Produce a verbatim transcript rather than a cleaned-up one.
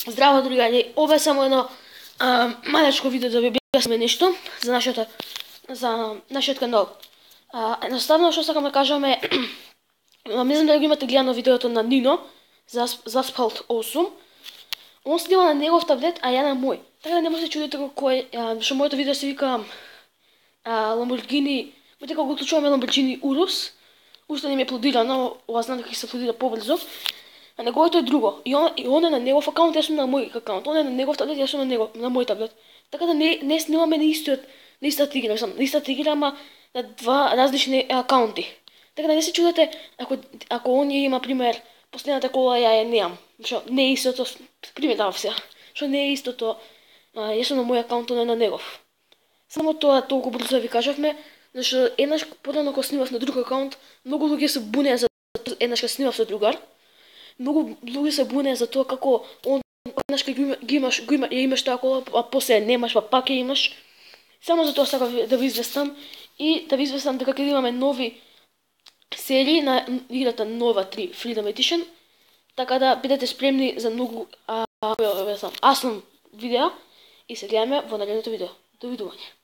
Здраво, другари, ова е само едно а, малечко видео да ви објасниме нешто за нашето за нашиот канал. А, едноставно што сакам да кажам е не знам дали го имате гледано видеото на Нино за за Asphalt осум. Он снима на негов таблет, а ја на мој. Така да не може да се чудите кој е, што моето видео се вика а, Lamborghini, ме дека го отлучуваме Lamborghini Urus. Уште не ми е аплодирано, ова знам дека ќе се аплодира побрзо. А неговото е друго. И он, и он е на негов акаунт, јас сум на мој акаунт. Он е на негов таблет, јас сум на негов, на мој таблет. Така да не не снимаме на истиот, на истата игра, сам, на истата игра, ама на два различни акаунти. Така да не се чудете ако ако он има пример последната кола ја ја немам. Што не е истото, пример давав сега. Што не е истото, а, јас сум на мој акаунт, он е на негов. Само тоа толку брзо да ви кажавме, зашто еднаш порано кога снимав на друг акаунт, многу луѓе се бунеа за еднаш кога снимав со другар. Многу луѓе се бунеа за тоа како он еднаш ги имаш, го има, ја имаш таа кола, а после немаш, па пак ја имаш. Само за тоа сакав да ви известам и да ви известам дека ќе имаме нови серии на играта Нова три Freedom Edition. Така да бидете спремни за многу а, а, а, а, видеа и се гледаме во наредното видео. Довидување.